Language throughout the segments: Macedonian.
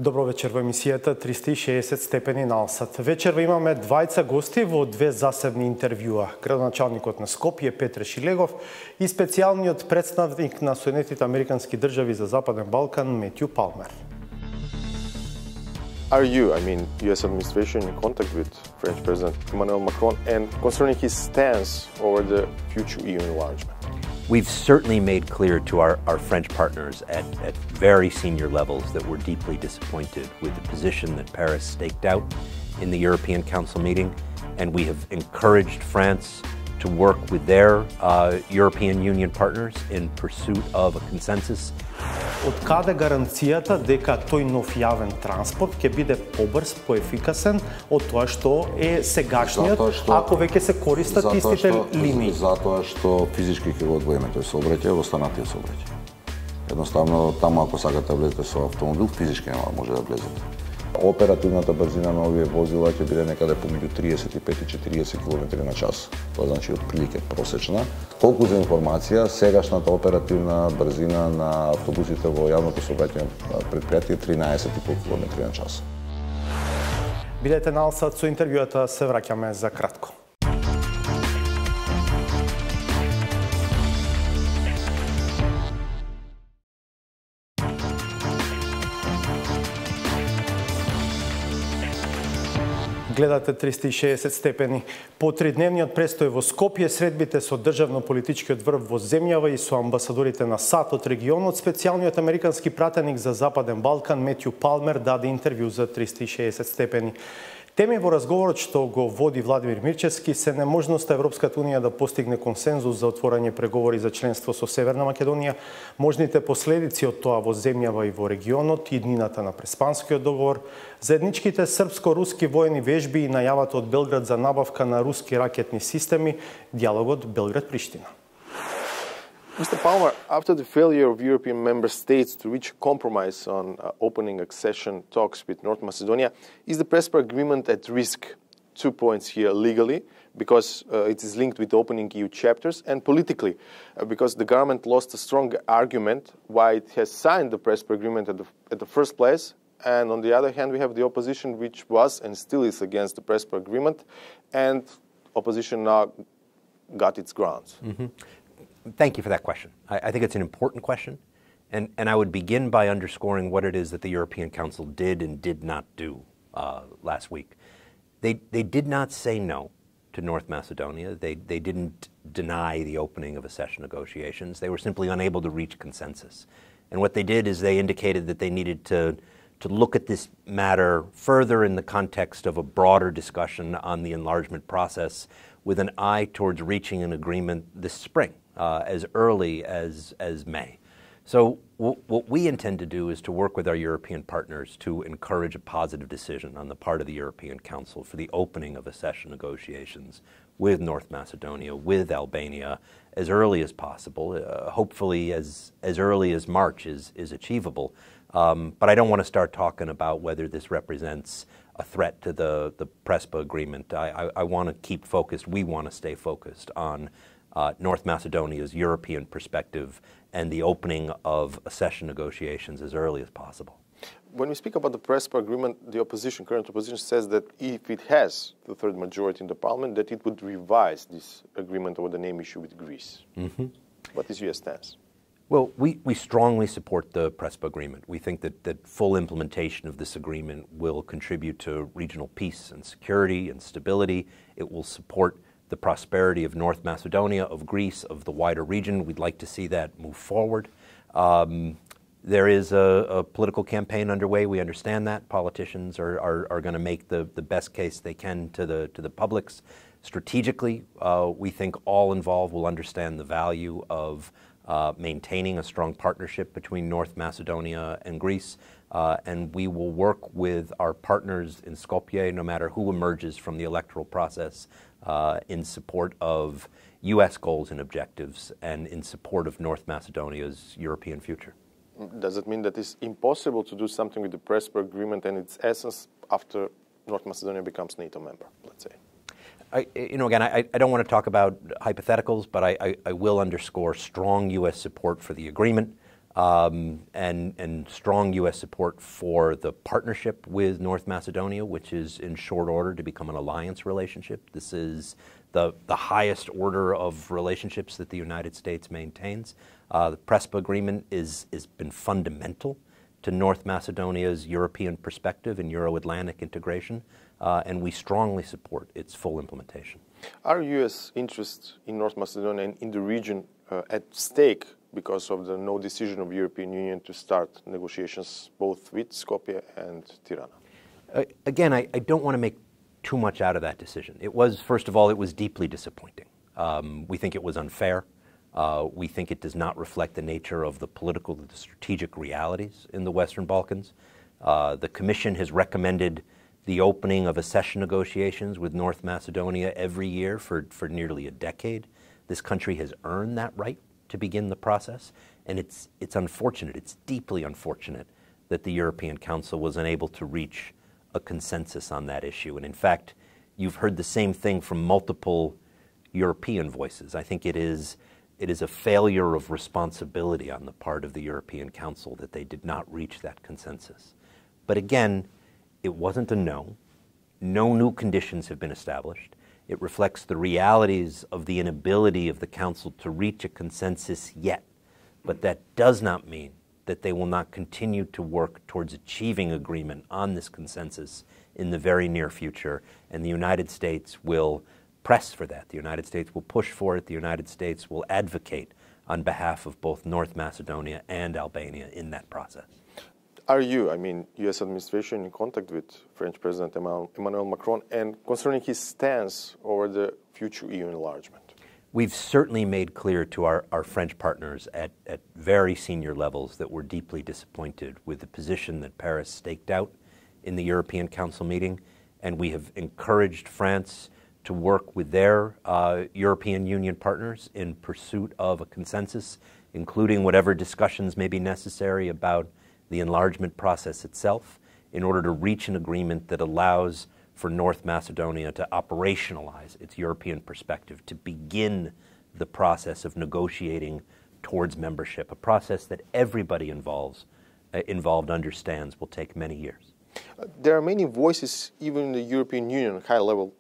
Добро вечер во емисијата 360 степени налсат. Вечерва имаме двајца гости во две засебни интервјуа. Градоначалникот на Скопје Петре Шилегов и специјалниот представник на Соединетите Американски држави за Западен Балкан Метју Палмер. Are you, US administration, in contact with French President Emmanuel Macron and concerning his stance over the future EU enlargement? We've certainly made clear to our French partners at very senior levels that we're deeply disappointed with the position that Paris staked out in the European Council meeting, and we have encouraged France to work with their European Union partners in pursuit of a consensus. Од каде гаранцијата дека тој нов јавен транспорт ќе биде побрз, поефикасен од тоа што е сегашниот, ако веќе се користат истите линии? Затоа што физички ќе го одвоиме тој сообраќај од останатиот сообраќај. Едноставно, таму ако сакате да влезете со автомобил, физички нема може да влезете. Оперативната брзина на овие возила ќе биде некаде помеѓу 35 и 40 км на час. Тоа значи отприлike просечна. Колку за информација, сегашната оперативна брзина на автобусите во јавното сообраќајно предпријатие 13,5 км на час. Бидете налсат со интервјуата, се враќаме за кратко. Гледате 360 степени. По тридневниот престој во Скопје, средбите со државно-политичкиот врв во земјава и со амбасадорите на САД од регионот, специјалниот американски пратеник за Западен Балкан Метју Палмер даде интервју за 360 степени. Теми во разговорот што го води Владимир Мирчевски се неможноста Европската унија да постигне консензус за отворање преговори за членство со Северна Македонија, можните последици од тоа во земјава и во регионот, иднината на Преспанскиот договор, заедничките српско-руски воени вежби и најавата од Белград за набавка на руски ракетни системи, диалогот Белград-Приштина. Mr. Palmer, after the failure of European member states to reach a compromise on opening accession talks with North Macedonia, is the Prespa agreement at risk? 2 points here: legally, because it is linked with opening EU chapters, and politically, because the government lost a strong argument why it has signed the Prespa agreement at the first place, and on the other hand, we have the opposition which was and still is against the Prespa agreement, and opposition now got its grounds. Mm-hmm. Thank you for that question. I think it's an important question, and I would begin by underscoring what it is that the European Council did and did not do last week. They did not say no to North Macedonia. They didn't deny the opening of accession negotiations. They were simply unable to reach consensus. And what they did is they indicated that they needed to look at this matter further in the context of a broader discussion on the enlargement process with an eye towards reaching an agreement this spring. As early as May. So what we intend to do is to work with our European partners to encourage a positive decision on the part of the European Council for the opening of accession negotiations with North Macedonia, with Albania, as early as possible. Hopefully as early as March is achievable. But I don't want to start talking about whether this represents a threat to the Prespa agreement. I want to keep focused. We want to stay focused on North Macedonia's European perspective and the opening of accession negotiations as early as possible. When we speak about the Prespa agreement, the current opposition says that if it has the third majority in the parliament, that it would revise this agreement over the name issue with Greece. Mm-hmm. What is your stance? Well, we strongly support the Prespa agreement. We think that full implementation of this agreement will contribute to regional peace and security and stability. It will support the prosperity of North Macedonia, of Greece, of the wider region. We'd like to see that move forward. There is a political campaign underway. We understand that. Politicians are going to make the best case they can to the publics. Strategically, we think all involved will understand the value of maintaining a strong partnership between North Macedonia and Greece. And we will work with our partners in Skopje, no matter who emerges from the electoral process, in support of U.S. goals and objectives and in support of North Macedonia's European future. Does it mean that it's impossible to do something with the Prespa agreement and its essence after North Macedonia becomes NATO member, let's say? Again, I don't want to talk about hypotheticals, but I will underscore strong U.S. support for the agreement. and strong U.S. support for the partnership with North Macedonia, which is in short order to become an alliance relationship. This is the highest order of relationships that the United States maintains. The PRESPA agreement has been fundamental to North Macedonia's European perspective and Euro-Atlantic integration, and we strongly support its full implementation. Are U.S. interests in North Macedonia and in the region at stake because of the no decision of the European Union to start negotiations both with Skopje and Tirana? Again, I don't want to make too much out of that decision. It was, first of all, it was deeply disappointing. We think it was unfair. We think it does not reflect the nature of the political and the strategic realities in the Western Balkans. The Commission has recommended the opening of accession negotiations with North Macedonia every year for nearly a decade. This country has earned that right to begin the process, and it's unfortunate, it's deeply unfortunate that the European Council was unable to reach a consensus on that issue. And in fact, you've heard the same thing from multiple European voices. I think it is a failure of responsibility on the part of the European Council that they did not reach that consensus. But again, it wasn't a no. No new conditions have been established. It reflects the realities of the inability of the Council to reach a consensus yet. But that does not mean that they will not continue to work towards achieving agreement on this consensus in the very near future, and the United States will press for that. The United States will push for it. The United States will advocate on behalf of both North Macedonia and Albania in that process. Are you, U.S. administration, in contact with French President Emmanuel Macron and concerning his stance over the future EU enlargement? We've certainly made clear to our French partners at very senior levels that we're deeply disappointed with the position that Paris staked out in the European Council meeting, and we have encouraged France to work with their European Union partners in pursuit of a consensus, including whatever discussions may be necessary about the enlargement process itself, in order to reach an agreement that allows for North Macedonia to operationalize its European perspective, to begin the process of negotiating towards membership, a process that everybody involved understands will take many years. There are many voices, even in the European Union, high-level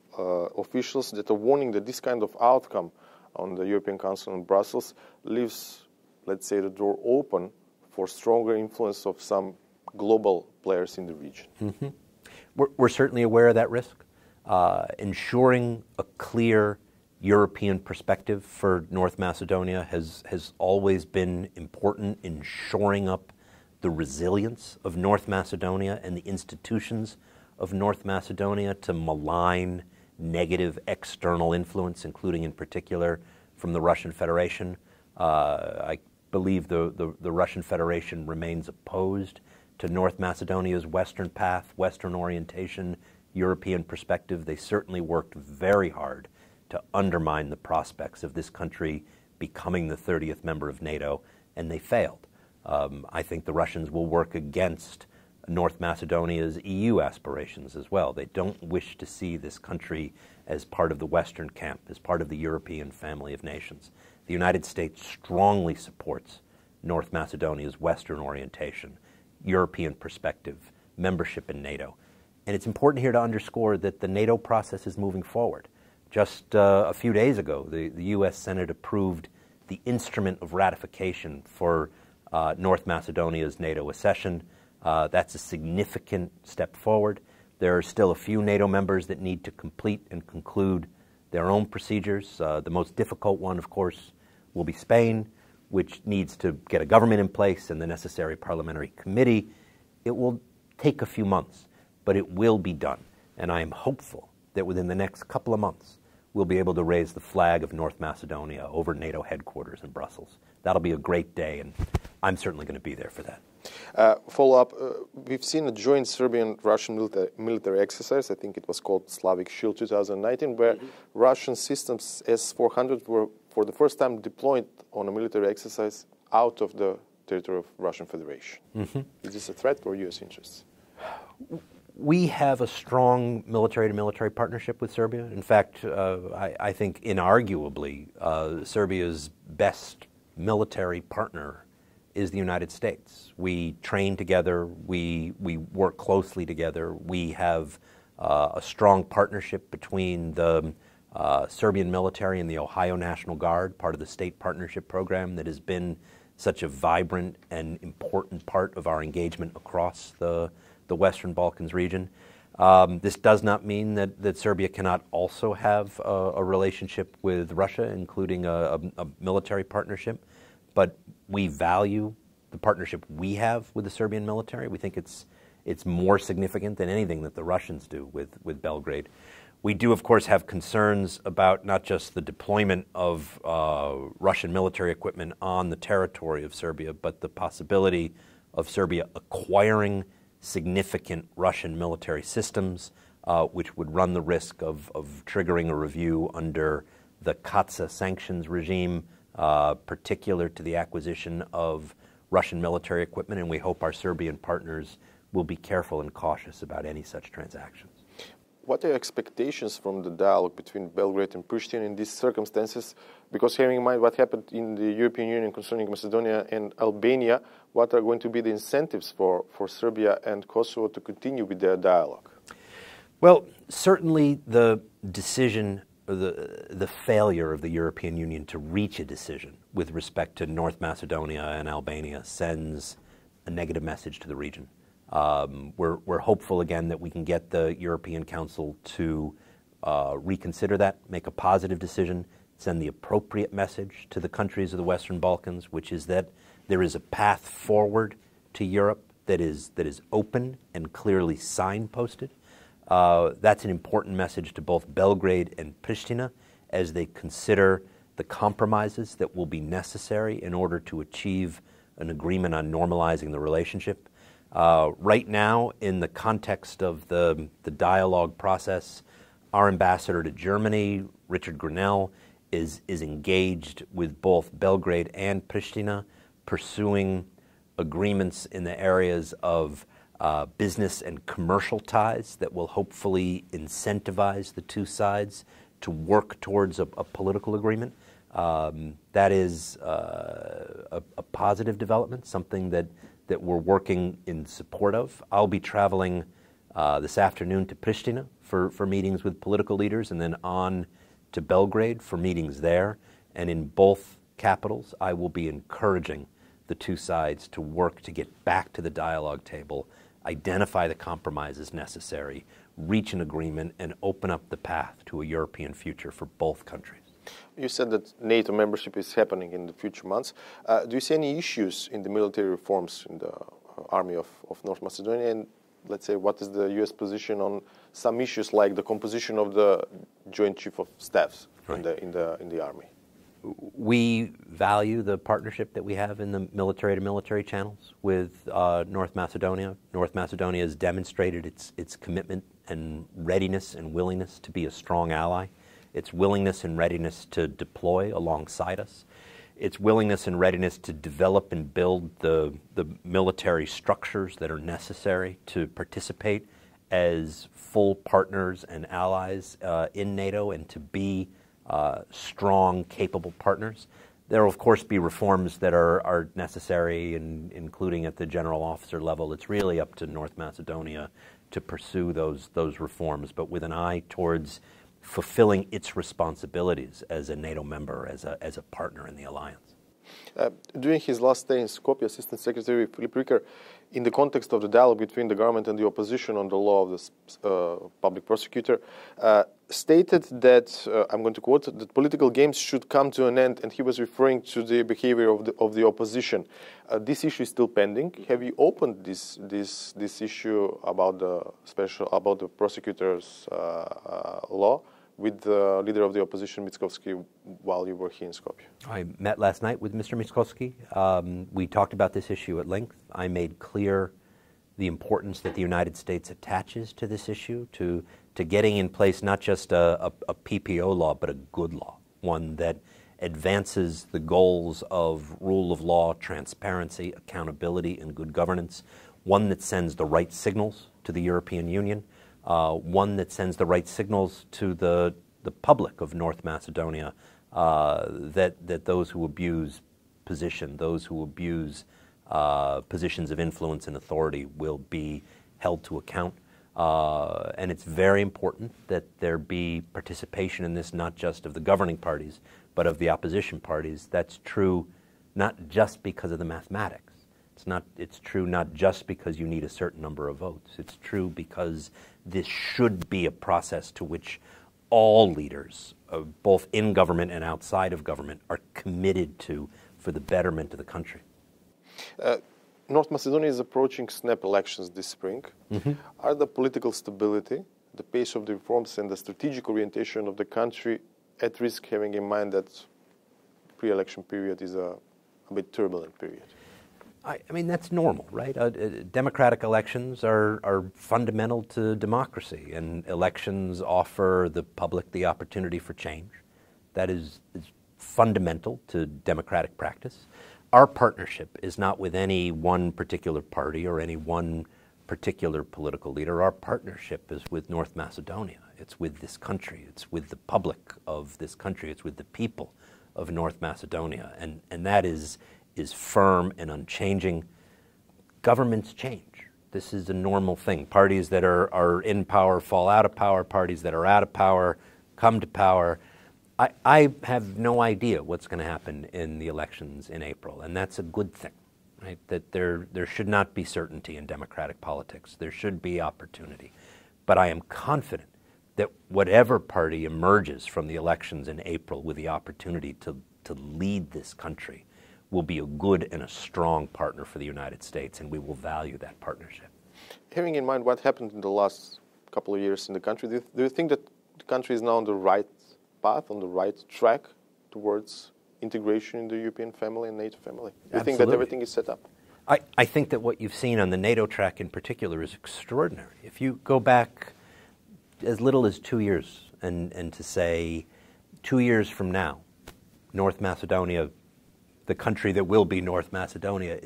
officials, that are warning that this kind of outcome on the European Council in Brussels leaves, let's say, the door open for stronger influence of some global players in the region. Mm-hmm. We're certainly aware of that risk. Ensuring a clear European perspective for North Macedonia has always been important in shoring up the resilience of North Macedonia and the institutions of North Macedonia to malign negative external influence, including in particular from the Russian Federation. I believe the Russian Federation remains opposed to North Macedonia's Western path, Western orientation, European perspective. They certainly worked very hard to undermine the prospects of this country becoming the 30th member of NATO, and they failed. I think the Russians will work against North Macedonia's EU aspirations as well. They don't wish to see this country as part of the Western camp, as part of the European family of nations. The United States strongly supports North Macedonia's Western orientation, European perspective, membership in NATO. And it's important here to underscore that the NATO process is moving forward. Just a few days ago, the U.S. Senate approved the instrument of ratification for North Macedonia's NATO accession. That's a significant step forward. There are still a few NATO members that need to complete and conclude their own procedures. The most difficult one, of course, will be Spain, which needs to get a government in place and the necessary parliamentary committee. It will take a few months, but it will be done. And I am hopeful that within the next couple of months, we'll be able to raise the flag of North Macedonia over NATO headquarters in Brussels. That'll be a great day, and I'm certainly going to be there for that. Follow-up, we've seen a joint Serbian-Russian military exercise. I think it was called Slavic Shield 2019, where Russian systems S-400 were for the first time deployed on a military exercise out of the territory of Russian Federation. Mm-hmm. Is this a threat for U.S. interests? We have a strong military-to-military partnership with Serbia. In fact, I think inarguably Serbia's best military partner is the United States. We train together, we work closely together, we have a strong partnership between the Serbian military and the Ohio National Guard, part of the state partnership program that has been such a vibrant and important part of our engagement across the Western Balkans region. This does not mean that Serbia cannot also have a relationship with Russia, including a military partnership, but we value the partnership we have with the Serbian military. We think it's more significant than anything that the Russians do with Belgrade. We do, of course, have concerns about not just the deployment of Russian military equipment on the territory of Serbia, but the possibility of Serbia acquiring significant Russian military systems, which would run the risk of triggering a review under the CATSA sanctions regime, particular to the acquisition of Russian military equipment, and we hope our Serbian partners will be careful and cautious about any such transactions. What are your expectations from the dialogue between Belgrade and Pristina in these circumstances? Because having in mind what happened in the European Union concerning Macedonia and Albania, what are going to be the incentives for Serbia and Kosovo to continue with their dialogue? Well, certainly the decision, or the failure of the European Union to reach a decision with respect to North Macedonia and Albania sends a negative message to the region. We're hopeful again that we can get the European Council to reconsider that, make a positive decision, send the appropriate message to the countries of the Western Balkans, which is that there is a path forward to Europe that is open and clearly signposted. That's an important message to both Belgrade and Pristina as they consider the compromises that will be necessary in order to achieve an agreement on normalizing the relationship. Right now, in the context of the dialogue process, our ambassador to Germany, Richard Grinnell, is engaged with both Belgrade and Pristina, pursuing agreements in the areas of business and commercial ties that will hopefully incentivize the two sides to work towards a political agreement. That is a positive development, something that we're working in support of. I'll be traveling this afternoon to Pristina for meetings with political leaders, and then on to Belgrade for meetings there. And in both capitals, I will be encouraging the two sides to work to get back to the dialogue table, identify the compromises necessary, reach an agreement, and open up the path to a European future for both countries. You said that NATO membership is happening in the future months. Do you see any issues in the military reforms in the army of North Macedonia? And let's say, what is the U.S. position on some issues like the composition of the Joint Chief of Staffs in the army? We value the partnership that we have in the military-to-military channels with North Macedonia. North Macedonia has demonstrated its commitment and readiness and willingness to be a strong ally. Its willingness and readiness to deploy alongside us. Its willingness and readiness to develop and build the military structures that are necessary to participate as full partners and allies in NATO and to be strong, capable partners. There will, of course, be reforms that are necessary, including at the general officer level. It's really up to North Macedonia to pursue those reforms, but with an eye towards fulfilling its responsibilities as a NATO member, as a partner in the alliance. During his last stay in Skopje, Assistant Secretary Filip Riker, in the context of the dialogue between the government and the opposition on the law of the public prosecutor, stated that, I'm going to quote, that political games should come to an end, and he was referring to the behavior of the opposition. This issue is still pending. Have you opened this issue about the prosecutor's law with the leader of the opposition, Mickoski, while you were here in Skopje? I met last night with Mr. Mickoski. We talked about this issue at length. I made clear the importance that the United States attaches to this issue, to getting in place not just a PPO law, but a good law, one that advances the goals of rule of law, transparency, accountability, and good governance, one that sends the right signals to the European Union, one that sends the right signals to the public of North Macedonia, that those who abuse position, those who abuse positions of influence and authority will be held to account. And it's very important that there be participation in this, not just of the governing parties, but of the opposition parties. That's true not just because of the mathematics. It's true not just because you need a certain number of votes. It's true because this should be a process to which all leaders, both in government and outside of government, are committed to for the betterment of the country. North Macedonia is approaching snap elections this spring. Mm-hmm. Are the political stability, the pace of the reforms, and the strategic orientation of the country at risk, having in mind that pre-election period is a bit turbulent period? I mean, that's normal, right? Democratic elections are fundamental to democracy, and elections offer the public the opportunity for change. That is fundamental to democratic practice. Our partnership is not with any one particular party or any one particular political leader. Our partnership is with North Macedonia. It's with this country. It's with the public of this country. It's with the people of North Macedonia. And that is firm and unchanging. Governments change. This is a normal thing. Parties that are in power fall out of power. Parties that are out of power come to power. I have no idea what's going to happen in the elections in April, and that's a good thing, right? That there should not be certainty in democratic politics. There should be opportunity. But I am confident that whatever party emerges from the elections in April with the opportunity to lead this country will be a good and a strong partner for the United States, and we will value that partnership. Having in mind what happened in the last couple of years in the country, do you think that the country is now on the right path, on the right track towards integration in the European family and NATO family? Do you think that everything is set up? I think that what you've seen on the NATO track in particular is extraordinary. If you go back as little as 2 years and to say 2 years from now, North Macedonia, the country that will be North Macedonia,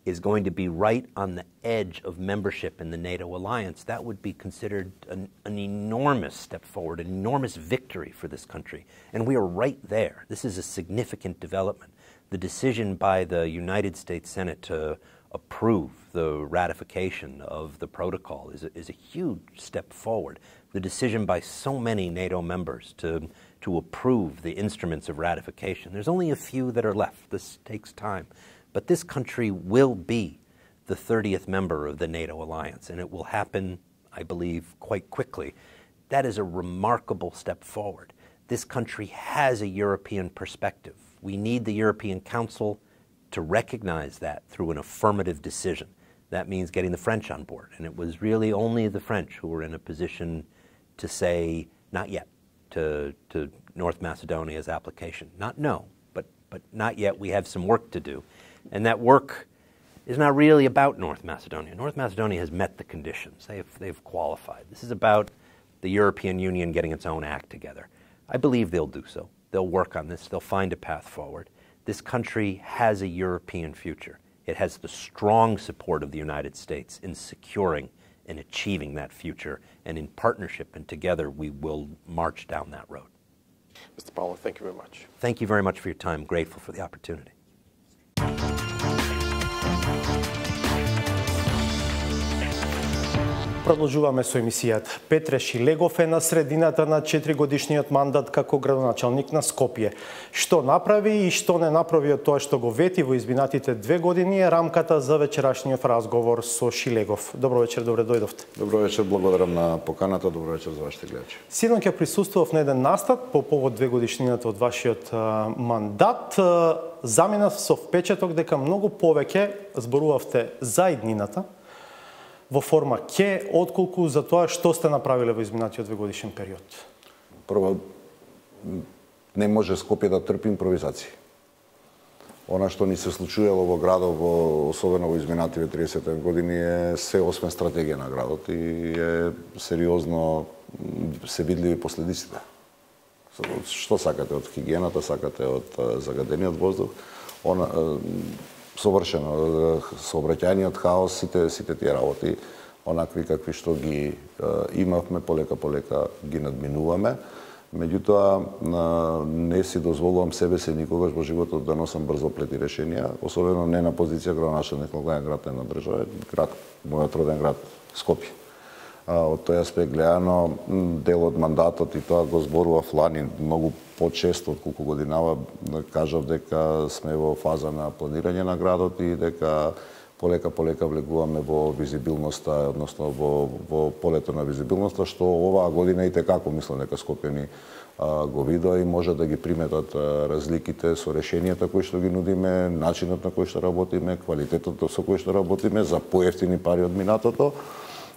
is going to be right on the edge of membership in the NATO alliance, that would be considered an enormous step forward, an enormous victory for this country. And we are right there. This is a significant development. The decision by the United States Senate to approve the ratification of the protocol is a huge step forward. The decision by so many NATO members to approve the instruments of ratification. There's only a few that are left. This takes time. But this country will be the 30th member of the NATO alliance, and it will happen, I believe, quite quickly. That is a remarkable step forward. This country has a European perspective. We need the European Council to recognize that through an affirmative decision. That means getting the French on board, and it was really only the French who were in a position to say not yet to North Macedonia's application. Not no, but not yet. We have some work to do. And that work is not really about North Macedonia. North Macedonia has met the conditions. They've qualified. This is about the European Union getting its own act together. I believe they'll do so. They'll work on this. They'll find a path forward. This country has a European future. It has the strong support of the United States in securing and achieving that future. And in partnership and together, we will march down that road. Mr. Paulo, thank you very much. Thank you very much for your time. Grateful for the opportunity. Продолжуваме со емисијата. Петре Шилегов е на средината на 4-годишниот мандат како градоначалник на Скопје. Што направи и што не направи од тоа што го вети во изминатите 2 години е рамката за вечерашниот разговор со Шилегов. Добро вечер, добре дојдовте. Добро вечер, благодарам на поканата, добро вечер за вашите гледачи. Синоќа присуствував на еден настан по повод 2 годишнината од вашиот мандат. Заминав со впечаток дека многу повеќе зборувавте за иднината во форма ке, отколку за тоа што сте направиле во изминатиот 2-годишен период? Прво, не може Скопје да трпи импровизации. Она што ни се случувало во градот, особено во изминативе 30 години, е се освен стратегија на градот и е сериозно се видливи последиците. Што сакате од хигиената, сакате од загадениот воздух, совршено сообраќајниот хаос, сите тие работи, онакви какви што ги имавме, полека ги надминуваме. Меѓутоа, не си дозволувам себе си никогаш во животот да носам брзоплети решенија, особено не на позиција градоначелник на главен град на држава, мојот роден град Скопје. Од тој аспект гледано, дел од мандатот и тоа го зборував лани многу почесто од колку годинава, кажав дека сме во фаза на планирање на градот и дека полека влегуваме во визибилноста, односно во полето на визибилноста, што оваа година и текако мислам дека Скопјани го видоа и може да ги приметат разликите со решенијата кои што ги нудиме, начинот на кој што работиме, квалитетот со кој што работиме за поевтини пари од минатото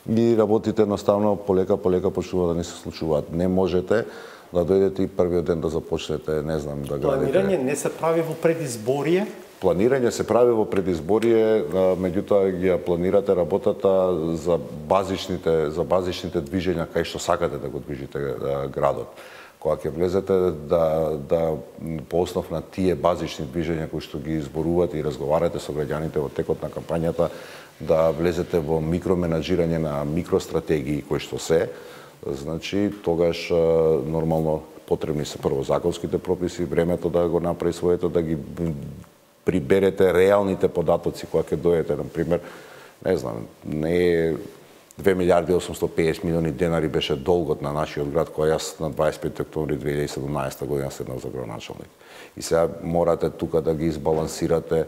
и работите едноставно полека почнува да не се случуваат. Не можете да дојдете и првиот ден да започнете, не знам, да градите. Планирање не се прави во предизборие? Планирање се прави во предизборие, меѓутоа ги планирате работата за базичните движења кај што сакате да го движите градот. Кога ќе влезете да по основ на тие базични движења кои што ги изборувате и разговарате со граѓаните во текот на кампањата, да влезете во микроменаџирање на микростратегии кои што се, значи тогаш нормално потребни се прво законските прописи, времето да го направи своето, да ги приберете реалните податоци кога ќе дојдете, например, не знам, не е 2 милиарди 850 милиони денари беше долгот на нашиот град кој јас на 25 октомври 2017 година седнав за градоначелник. И сега морате тука да ги избалансирате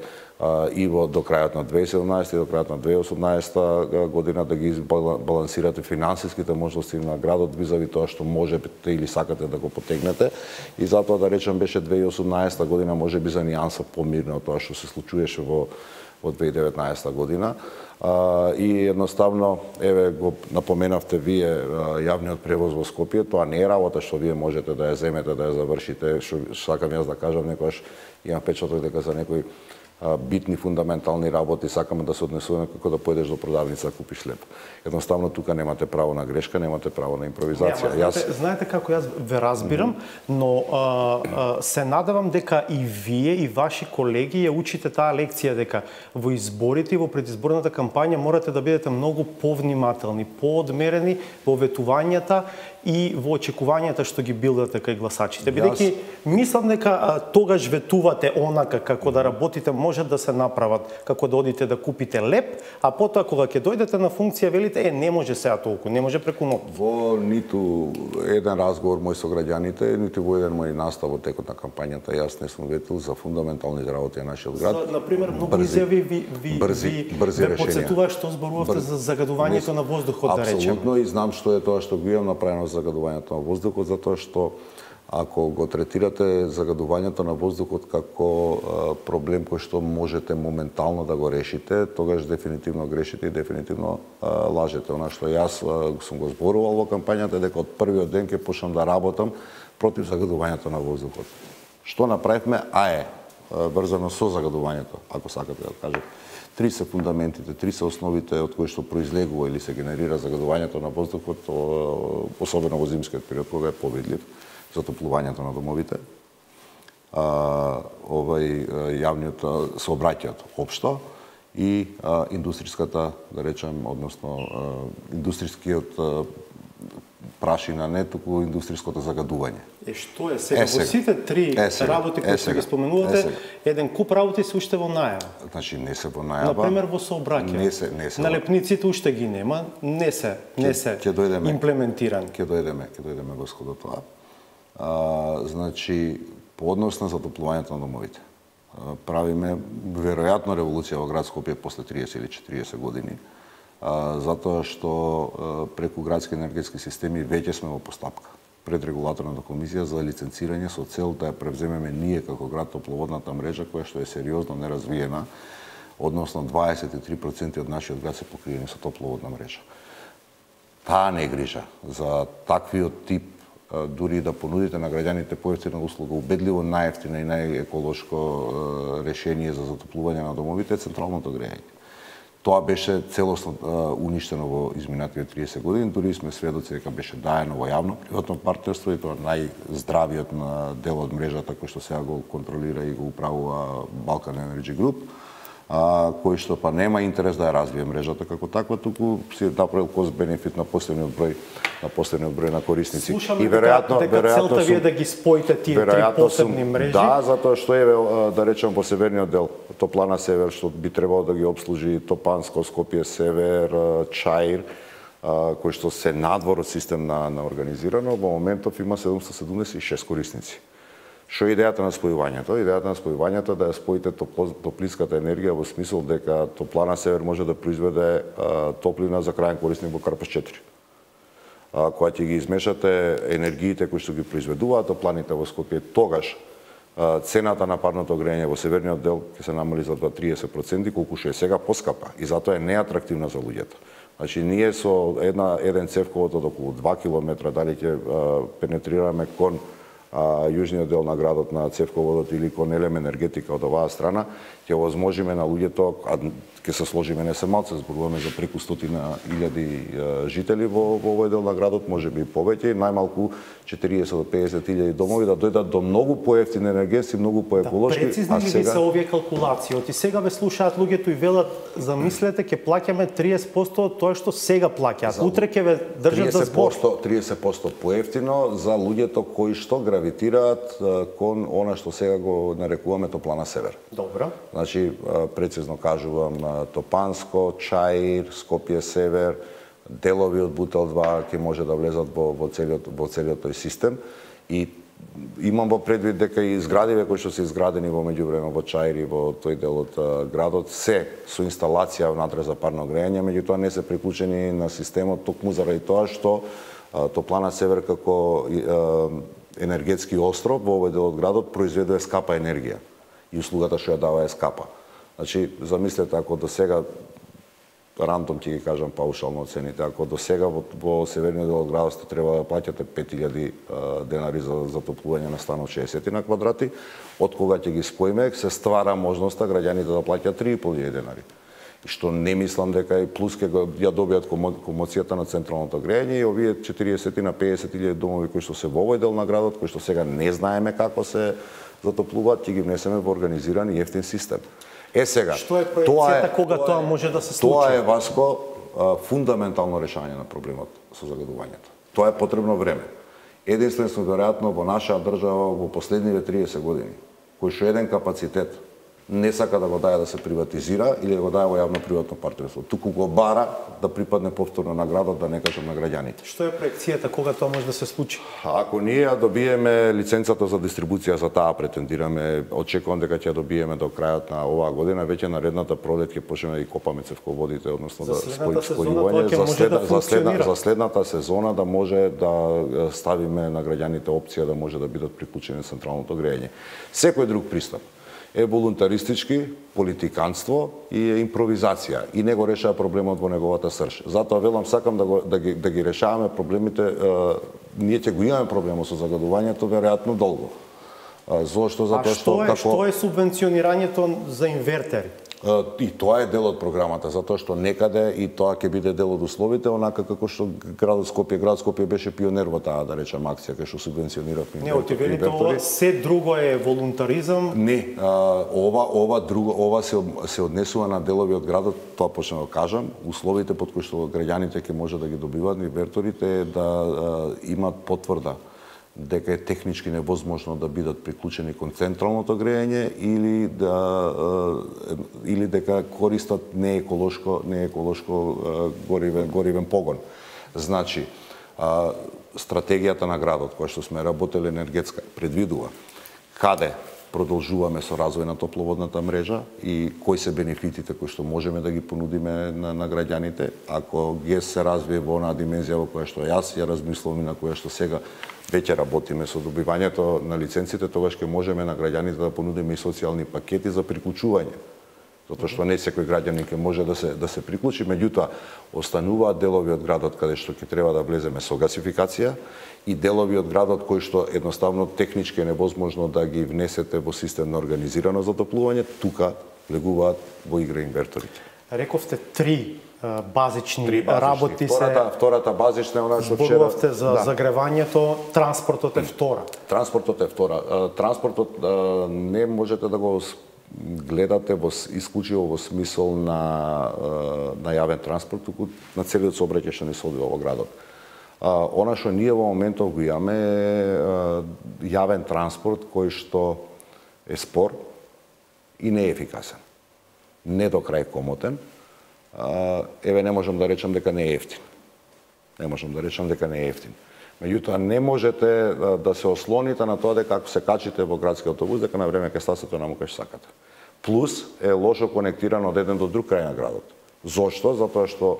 и до крајот на 2017 и до крајот на 2018 година да ги избалансирате финансиските можности на градот визави тоа што можете или сакате да го потегнете. И затоа да речем беше 2018 година можеби за нијанса помирна од тоа што се случуваше во 2019 година. И едноставно, еве го напоменавте вие јавниот превоз во Скопје, тоа не е работа што вие можете да ја земете, да ја завршите, што сакам јас да кажам, некојаш имам печаток дека за некои битни фундаментални работи сакаме да се однесуваме како да појдеш до продавница да купиш хлеб. Едноставно тука немате право на грешка, немате право на импровизација. Знаете како јас ве разбирам, но се надевам дека и вие и ваши колеги ја учите таа лекција дека во изборите и во предизборната кампања морате да бидете многу повнимателни, поодмерени во ветувањата и во очекувањата што ги билдате кај гласачите. Бидејќи мислам дека тогаш ветувате онака како да работите може да се направат, како да одите да купите леп, а потоа кога ќе дојдете на функција велите не може сега толку, не може преку ноќ. Во ниту еден разговор мој со граѓаните, ниту во еден мој настав во текот на кампањата јас не сум ветил за фундаменталните работи на нашиот град. За, например, многу изјави ви потсетува што зборувавте за загадувањето на воздухот, да речем. Апсолутно, и знам што е тоа што го имам направено за загадувањето на воздухот, затоа што ако го третирате загадувањето на воздухот како проблем кој што можете моментално да го решите, тогаш дефинитивно грешите и дефинитивно лажете. Она што јас сум го зборувал во кампањата дека од првиот ден ќе почнам да работам против загадувањето на воздухот. Што направивме? Врзано со загадувањето, ако сакате да кажете. Три се фундаментите, три се основите од кои што произлегува или се генерира загадувањето на воздухот, особено во зимскиот период кога е повидлив, затоплувањето на домовите, јавниот сообраќајот општо и индустриската, да речем, односно индустрискиот прашина, не туку индустриското загадување. Што е сега? Во сите три работи кои што ги споменувате, еден куп работи се уште во најава. Значи не се во најава. Например во сообраќај. Налепниците уште ги нема, не се имплементирани. Ќе дојдеме господо тоа. Значи, по однос на затоплувањето на домовите. Правиме веројатно револуција во град Скопје после 30 или 40 години, затоа што преку градски енергетски системи веќе сме во постапка пред регулаторната комисија за лиценцирање со цел да ја превземеме ние како град топловодната мрежа која што е сериозно неразвиена, односно 23% од нашиот град се покриени со топловодна мрежа. Таа негрижа за таквиот тип дури да понудите на граѓаните поевтина услуга, убедливо најевтина и најеколошко решение за затоплување на домовите е централното грејање. Тоа беше целосно уништено во изминатите 30 години, дури сме сведоци дека беше даено во јавно-приватно партнерство и тоа најздравиот дел од мрежата кој што сега го контролира и го управува Balkan Energy Group. кој што па нема интерес да ја развие мрежата како таква, туку си направил кост бенефит на последниот број на корисници. Слушаме дека целта ви е да ги споите тие три посебни мрежи. Да, затоа што да речем во северниот дел Топлана Север, што би требало да ги обслужи Топанско, Скопје Север, Чаир, кој што се надвор од систем на организирано, во моментов има 776 корисници. Што е идејата на спојувањето? Идејата на спојувањето е да ја споите топлинската енергија во смисол дека Топлана Север може да произведе топлина за крајен корисник во Карпаш 4. Кога ќе ги измешате енергиите кои што ги произведуваат топланите во Скопје, тогаш цената на парното грејење во северниот дел ќе се намали за 30%, колку што е сега поскапа и затоа е неатрактивна за луѓето. Значи, ние со еден цевковод од околу 2 км, дали ќе пенетрираме кон јужниот дел на градот на цевководот или кон Елем енергетика од оваа страна, ќе возможиме на луѓето, ќе се сложиме не се малце, зборуваме за преку 100.000 жители во овој дел на градот, можеби и повеќе, најмалку 40 до 50.000 домови да дојдат до многу поевтини енергетски, многу поеколошки. Да, прецизни ли се овие калкулации? Оти сега ве слушаат луѓето и велат, замислете, ќе плаќаме 30% од тоа што сега плаќаат. Утре ќе ве држат за збор. 30% поевтино за луѓето кои што гравитираат кон она што сега го нарекуваме Топлана Север. Добро. Значи, прецизно кажувам, Топанско, Чаир, Скопје Север, делови од Бутел 2 ќе може да влезат во целиот тој систем и имам во предвид дека и зградиве кои што се изградени во меѓувреме во Чаир и во тој дел од градот се со инсталација внатре за парно грејење, меѓутоа не се приклучени на системот токму заради тоа што Топлана Север како енергетски остров во овој дел од градот произведува скапа енергија и услугата што ја дава е скапа. Значи, замислете, ако до сега, рандом ќе ги кажам паушално цените, ако до сега во северниот дел од градот сте треба да плаќате 5.000 денари за затоплување на станот 60 на квадрати, од кога ќе ги споиме, се ствара можноста граѓаните да плаќаат 3.500 денари. Што не мислам дека и плюс ќе ја добијат комоцијата на централното грејење и овие 40 на 50.000 домови кои што се во овој дел на градот, кои што сега не знаеме како се затоплуваат, ќе ги внесеме во организиран и ефтин систем. Сега, што е проекцијата кога тоа може да се случи? Тоа е, Васко, фундаментално решање на проблемот со загадувањето. Тоа е потребно време. Единствено веројатно во нашата држава во последниве 30 години, кој што еден капацитет не сака да го даде да се приватизира или да го даде во јавно-приватно партнерство, туку го бара да припадне повторно на градот, да не кажам на граѓаните. Што е проекцијата кога тоа може да се случи? Ако ние ја добиеме лиценцата за дистрибуција, за таа претендираме, очекувам дека ќе ја добиеме до крајот на оваа година, веќе наредната пролет ќе почнеме да копаме цевководите, односно да спојување за следната сезона да може да ставиме на граѓаните опција да може да бидат приклучени на централното грејење. Секој друг пристап е волунтаристички, политиканство и импровизација и не го решава проблемот во неговата срж. Затоа велам сакам да ги решаваме проблемите, ние ќе го имаме проблемот со загадувањето веројатно долго. Зошто? Затоа што е субвенционирањето за инвертери? И тоа е дел од програмата, затоа што некаде и тоа ќе биде дел од условите, онака како што град Скопје беше пионер во таа, да речем, акција кај што субвенциониравме инвертори. Не, отивелите ова се друго е волунтаризам? Не, ова се однесува на делови од градот, тоа почнем да кажам, условите под кои што граѓаните ќе може да ги добиваат инверторите е да имаат потврда дека е технички невозможно да бидат приклучени кон централното грејење или дека користат нееколошко горивен погон. Значи, стратегијата на градот која што сме работеле енергетска предвидува каде продолжуваме со развој на топловодната мрежа и кои се бенефитите кои што можеме да ги понудиме на граѓаните. Ако ГЕС се развие во онаа димензија во која што јас ја размислувам и на која што сега веќе работиме со добивањето на лиценците, тогаш ќе можеме на граѓаните да понудиме и социјални пакети за приклучување. Затоа што не секој граѓанин ќе може да се приклучи, меѓутоа остануваат делови од градот каде што ќе треба да влеземе со гасификација и делови од градот кои што едноставно технички е невозможно да ги внесете во систем на организирано затоплување, тука влегуваат во игра инверторите. Рековте три базични работи Втората базична е она што вчера зборувавте за загревањето, транспортот е втора. Транспортот не можете да го гледате исклучиво во смисол на јавен транспорт, туку на целиот сообраќај што ни се одвива во градот. Она што ние во моментов го имаме е јавен транспорт кој што е спор и не е ефикасен. Не до крај комотен. Еве, не можам да речам дека не е ефтин. Меѓутоа, не можете да се ослоните на тоа дека ако се качите во градски автобус, дека на време ќе стасате наму кај сакате. Плюс е лошо конектирано од еден до друг крај на градот. Зошто? Затоа што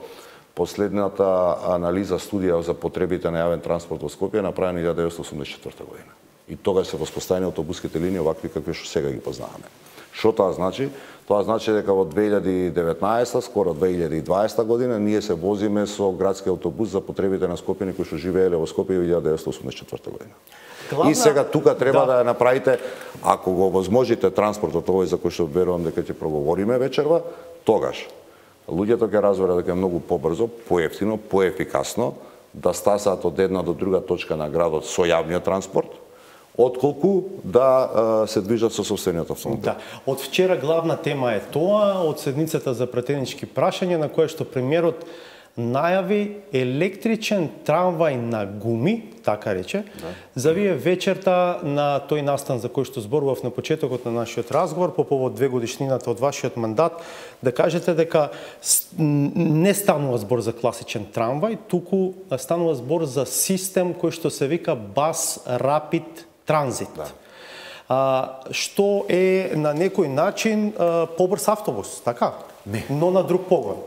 последната анализа, студија за потребите на јавен транспорт во Скопје е направена 1984 година. И тогаш се воспоставени автобуските линии овакви какви што сега ги познаваме. Што тоа значи? Тоа значи дека во 2019, скоро 2020 година, ние се возиме со градски автобус за потребите на скопјани кои што живееле во Скопје во 1984 година. И сега тука треба да направите, ако го возможите транспортот овој за кој што верувам дека ќе проговориме вечерва, тогаш луѓето ќе разберат дека е многу побрзо, поевтино, поефикасно да стасаат од една до друга точка на градот со јавниот транспорт, отколку да се движат со собствениот автомобил. Да. Од вчера главна тема е тоа, од седницата за пратенички прашања на која што премиерот најави електричен трамвај на гуми, така рече, за вие вечерта на тој настан за кој што зборував на почетокот на нашиот разговор по повод 2 годишнината од вашиот мандат, да кажете дека не станува збор за класичен трамвај, туку станува збор за систем кој што се вика Bus Rapid Transit. Што е на некој начин побрз автобус, така? Не. Но на друг погон.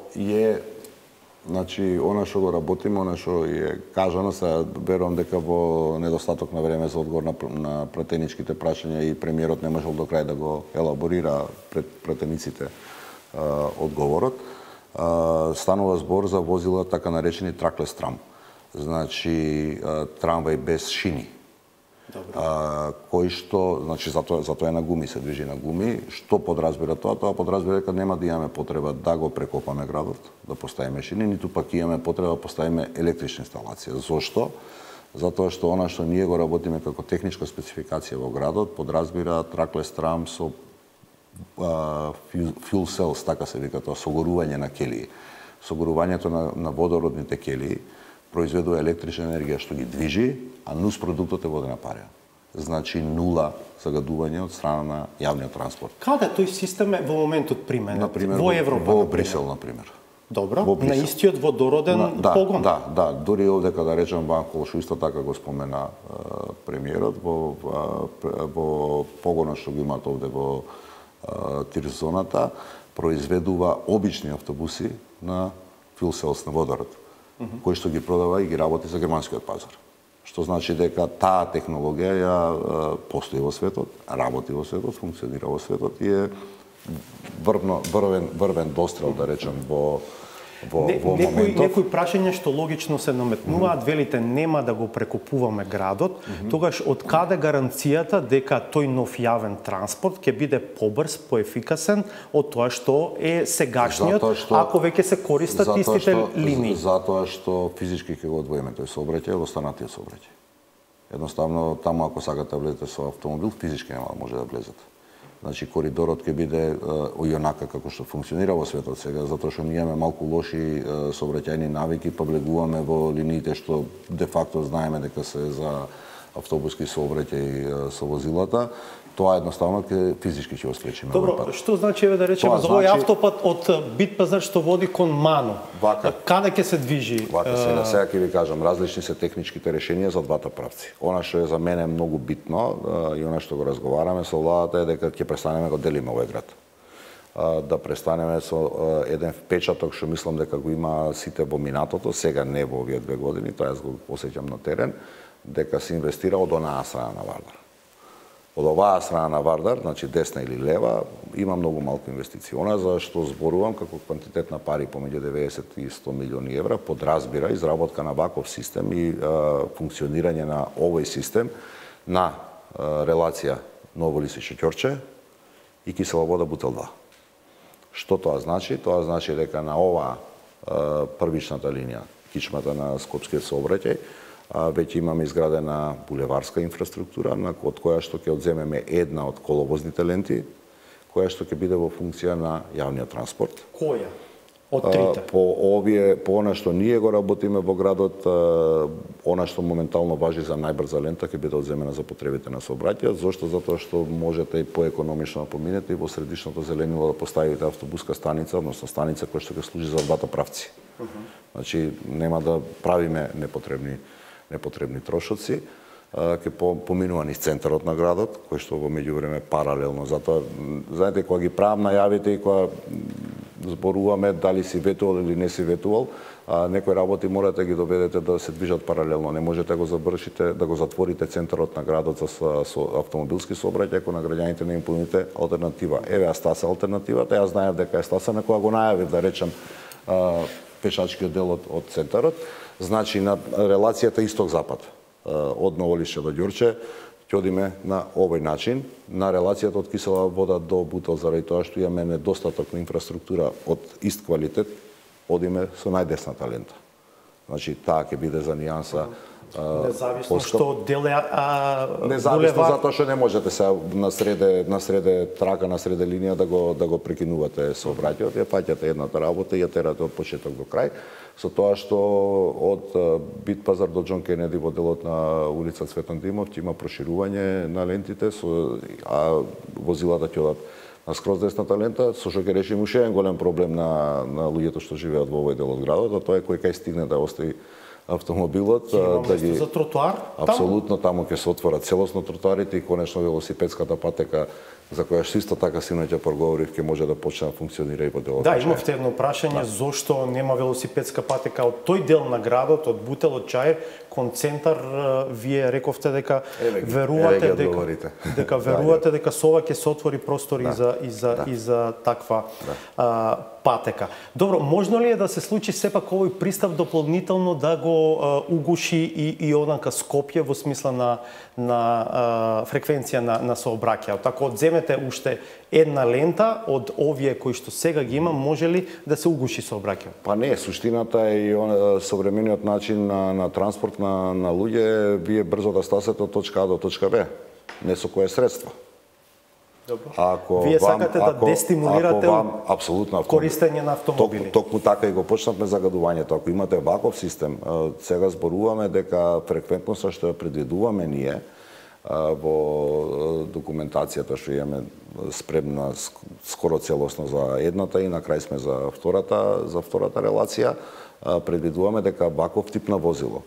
Значи, она што го работиме, она што е кажано, се верувам дека во недостаток на време за одговор на пратеничките прашања и премиерот не можел до крај да го елаборира пред пратениците одговорот, станува збор за возила така наречени траклес трам. Значи, трамвај без шини. Кој што, значи затоа е на гуми, се движи на гуми. Што подразбира тоа? Тоа подразбира дека нема да имаме потреба да го прекопаме градот, да поставиме шини, ниту пак имаме потреба да поставиме електрична инсталација. Зошто? Затоа што она што ние го работиме како техничка спецификација во градот подразбира траклес трам со fuel cells, така се вика тоа, согорување на келии. Согорувањето на водородните келии произведува електрична енергија што ги движи, а нус продуктот е водена парја. Значи нула загадување од страна на јавниот транспорт. Каде тој систем е во моментот применет? Например, во Европа, во Брисел, например. Добро, на истиот водороден погон. Да, дури овде кога речам Банкол, што исто така го спомена премиерот, во погонот што го имаат овде во Тирзоната, произведува обични автобуси на fuel cells на водород, кој што ги продава и ги работи за германскиот пазар. Што значи дека таа технологија ја постои во светот, работи во светот, функционира во светот и е врвен дострел, да речем, во моментов. Некои прашања што логично се наметнуваат, велите нема да го прекопуваме градот, тогаш од каде гаранцијата дека тој нов јавен транспорт ќе биде побрз, поефикасен од тоа што е сегашниот, ако веќе се користат истите линии? Затоа што физички ќе го одвоиме тој сообраќај во останатиот сообраќај. Едноставно, таму ако сакате да влезете со автомобил, физички нема да може да влезете. Значи, коридорот ќе биде онака како што функционира во светот сега, затоа што ние имаме малку лоши сообраќајни навики, повлегуваме во линиите што де факто знаеме дека се за автобуски сообраќај со возилата. Тоа едноставно физички ќе го спречиме. Добро, што значи еве да речеме за овој автопат од Битпазар што води кон Мано? Каде ќе се движи? Сега ќе ви кажам, различни се техничките решенија за двата правци. Она што е за мене многу битно и она што го разговараме со владата е дека ќе престанеме го делиме овој град. Да престанеме со еден впечаток што мислам дека го има сите во минатото, сега не во овие 2 години, тоа јас го осеќам на терен, дека се инвестира од онаа страна на Вардар. Од оваа страна на Вардар, значи десна или лева, има многу малку инвестиции. Она за што зборувам како квантитет на пари помеѓу 90 и 100 милиони евра подразбира изработка на ваков систем и функционирање на овој систем на релација Ново Лисиче Ќорче и кисела вода Бутел 2. Што тоа значи? Тоа значи дека на оваа првичната линија, кичмата на скопскиот сообраќај, веќе имаме изградена булеварска инфраструктура, од која што ќе одземеме една од коловозните ленти, која што ќе биде во функција на јавниот транспорт. Која? Од трите? По она што ние го работиме во градот, она што моментално важи за најбрза лента ќе биде одземена за потребите на сообраќајот. Зошто? Затоа што можете и поекономично да поминете и во средишното зеленило да поставите автобуска станица, односно станица која што ќе служи за двата правци. Значи нема да правиме непотребни трошоци. Ќе поминува низ центарот на градот, кој што во меѓувреме паралелно. Затоа, знаете, кога ги правам најавите и кога зборуваме дали си ветувал или не си ветувал, некои работи морате ги доведете да се движат паралелно. Не можете да го завршите, да го затворите центарот на градот со автомобилски сообраќај, ако на граѓаните не им понудите алтернатива. Еве, стаса алтернативата, јас знаев дека е стаса, на кога го најавив, да речем, пешачкиот дел од центарот. Значи, на релацијата исток-запад, од Новолишче до Ѓурче, ќе одиме на овој начин, на релацијата од Кисела вода до Бутел, заради тоа што имаме недостаток на инфраструктура од ист квалитет, одиме со најдесната лента. Значи, таа ќе биде за нијанса независно што дел е независно затоа што не можете се на среде трака, на среде линија да го прекинувате сообраќајот, ја фаќате едната работа и ја терате од почеток до крај, со тоа што од Бит пазар до Џон Кенеди во делот на улица Цветан Димов ќе има проширување на лентите, а возилата ќе одат на скроз десната лента, со што ќе решиме уште еден голем проблем на луѓето што живеат во овој дел од градот, а тоа е кој кај стигне да остави автомобилот, да ги за тротоар. Апсолутно таму ќе се отворат целосно тротоарите и конечно велосипедската патека за која што исто така синоќа проговорив ќе може да почне да функционира и во делот. Да, имавте едно прашање зошто нема велосипедска патека од тој дел на градот, од Бутел, од Чаир кон центар. Вие рековте дека верувате дека со ова ќе се отвори простор и за таква патека. Добро, можно ли е да се случи сепак овој пристап дополнително да го угуши и онака Скопје во смисла на фреквенција на сообраќајот? Ако одземете уште една лента од овие кои што сега ги има, може ли да се угуши сообраќајот? Па не, суштината е и современиот начин на транспорт на луѓе, вие брзо да стасете од точка А до точка Б, не со кое средство. Добро. Вие сакате да дестимулирате апсолутно користење на автомобили. Токму така и го почнавме загадувањето. Ако имате ваков систем, сега зборуваме дека фреквентноста што ја предвидуваме ние во документацијата што имаме спремна скоро целосно за едната и на крај сме за втората релација, предвидуваме дека ваков тип на возило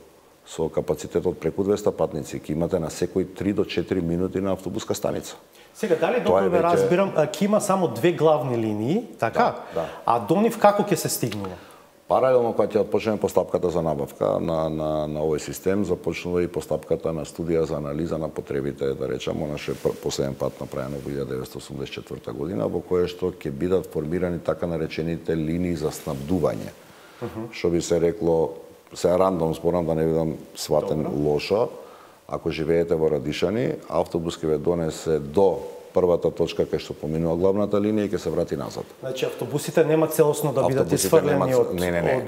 со капацитет од преку 200 патници ќе имате на секој 3 до 4 минути на автобуска станица. Сега, дали добро ве разбирам, ќе има само две главни линии, така? Да. А до нив како ќе се стигнува? Паралелно кога ќе почнеме постапката за набавка на овој систем, започнува и постапката на студија за анализа на потребите, да речеме, наше последен пат направено во 1984 година, во кое што ќе бидат формирани така наречените линии за снабдување. Што би се рекло, се рандом зборам да не бидам сватен лошо, ако живеете во Радишани, автобус ќе ве донесе до првата точка кај што поминува главната линија и ќе се врати назад. Значи автобусите нема целосно да бидат исфрлени од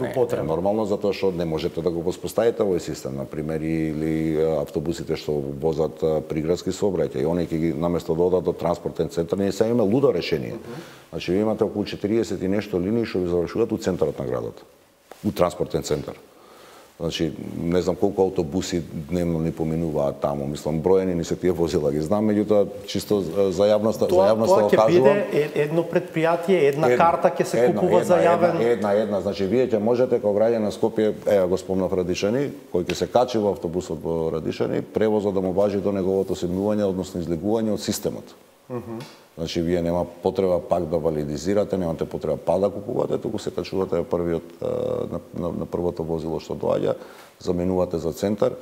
употреба. Нормално затоа што не можете да го воспоставите овој систем, на пример, или автобусите што возат приградски сообраќај, они ќе ги наместо да одат до транспортен центар, ние сега имаме лудо решение. Значи ви имате околу 40 и нешто линии што ви завршуваат у центарот на градот, у транспортен центар. Значи, не знам колку автобуси дневно ни поминуваат таму, мислам броени ни се тие возила, ги знам, меѓутоа чисто за јавноста тоа ќе биде едно предпријатие, една карта ќе се купува за јавен. Една, значи вие ќе можете како граѓани на Скопје, ева го спомнав Радишани, кој ќе се качи во автобусот во Радишани, превозот да му важи до неговото седнување, односно излегување од системот. Значи, вие нема потреба пак да валидизирате, немате потреба пак да купувате, туку се качувате на првото возило што доаѓа, заменувате за центар.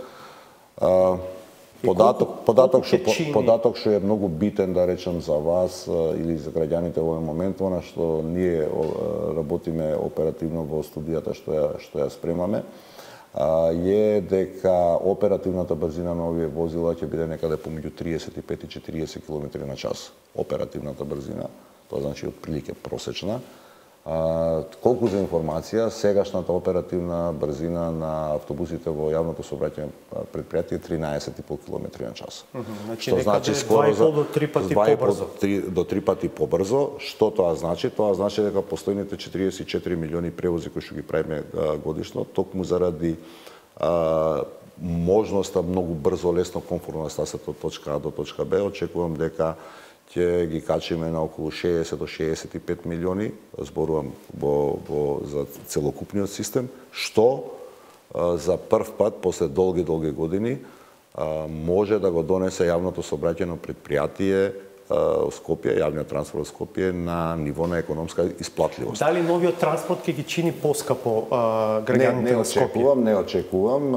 Податок што е многу битен, да речем, за вас или за граѓаните во овој момент, она што ние работиме оперативно во студијата што ја спремаме, е дека оперативната брзина на овие возила ќе биде некаде помеѓу 35 и 40 км на час. Оперативната брзина, тоа значи отприлike просечна. Колку за информација, сегашната оперативна брзина на автобусите во јавното сообраќајно предпријатие е 13,5 км на час. Што значи скоро за 2,5 до 3 пати побрзо. До 3 пати побрзо. Што тоа значи? Тоа значи дека постојните 44 милиони превози кои што ги правиме годишно, токму заради можноста многу брзо, лесно, комфортно да стасат од точка А до точка Б, очекувам дека ќе ги качиме на околу 60 до 65 милиони, зборувам за целокупниот систем, што за прв пат после долги години може да го донесе јавното сообраќајно предпријатие Скопје, јавниот транспорт во Скопје на ниво на економска исплатливост. Дали новиот транспорт ќе ги чини поскапо граѓаните на Скопје? Не очекувам.